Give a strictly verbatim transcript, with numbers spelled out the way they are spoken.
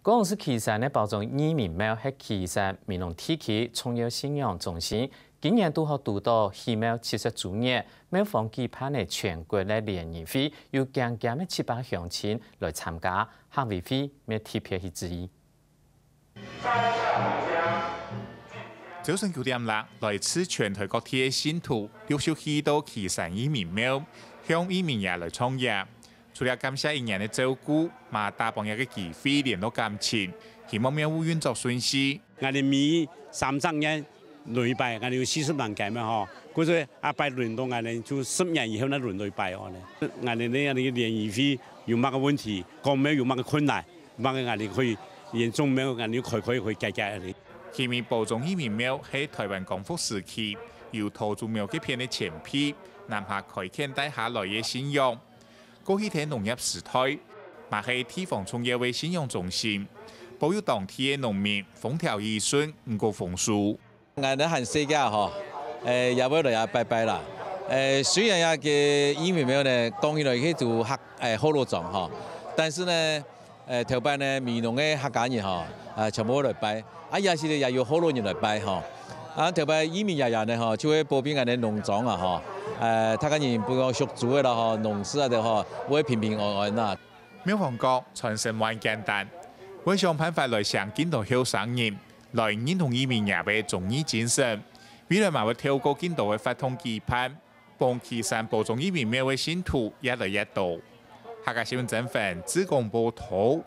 高雄市旗山个寶塚義民廟係旗山美濃地區重要信仰中心，今年堵好堵到起廟七十週年，廟方舉辦个全國个聯誼會，有將近个七百鄉親來參加，客委會乜特別去注意。朝晨九點零，來自全台各地个信徒陸續去到旗山義民廟，向義民爺來唱迎。 除了感謝一年个照顧，嘛打幫這个機會聯絡感情，希望廟務運作順序。𠊎兜每三十年輪一擺，𠊎兜有四十萬間嘛吼，故所啊拜輪到𠊎兜就十年以後再輪到一擺哦呢。𠊎兜呢，𠊎兜聯誼會有麼个問題，公廟有麼个困難，麼个𠊎兜可以連總廟𠊎兜開開會解決个。旗山寶塚義民廟係台灣光復時期由桃竹苗該片个前輩南下開墾帶下來个信仰。 過去在農業時代，嘛係地方重要个信仰中心，保佑當地个農民風調雨順，五穀豐收。𠊎兜還細个吼，誒，也會來這拜拜啦。誒，雖然這个義民廟呢，講起來佢就客，誒，學老庄吼，但是呢，誒，頭擺呢，美濃个客家人吼，啊，全部來拜。 啊，也係也有學老人來拜吼。啊，頭擺義民爺爺呢吼，就會保庇𠊎兜農莊啊吼，呃，大家人不管畜豬个啦吼，農事啊个吼，會平平安安啦。廟方講，傳承無恁簡單，會想辦法來請更多後生人來認同義民爺个忠義精神。未來嘛會透過更多个活動舉辦，幫旗山寶塚義民廟个信徒越來越多。客家新聞曾凡，志工報導。